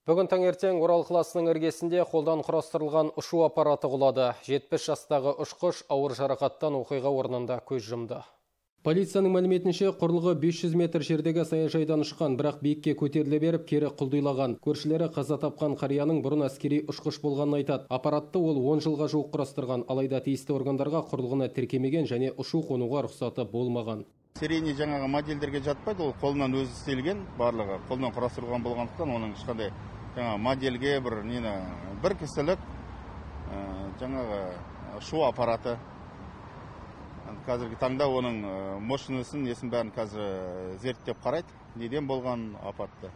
Бүгін таңертең Орал қаласының іргесінде қолдан құрастырылған ұшу аппараты құлады. 70 жастағы ұшқыш ауыр жарақаттан оқиға орнында көз жұмды. Полицияның мәліметінше, құрылғы 500 метр жердегі саяжайдан ұшқан, бірақ биікке көтеріле беріп, кері құлдилаған. Көршілері қаза тапқан қарияның бұрын әскери ұшқыш болғанын айтады. Аппаратты ол 10 жылға жуық құрастырған, алайда тиісті органдарға құрылғыны тіркемеген және ұшу қонуға рұқсаты болмаған. Серийный жаңағы модельдерге жатпайды, ол қолынан өзі істелген, барлығы қолынан құрастырылған болғандықтан, оның ешқандай жаңағы модельге бір кісілік жаңағы ұшу аппараты. Қазіргі таңда оның мощнысын, несін бәрін қазір зерттеп қарайды, неден болған апатты.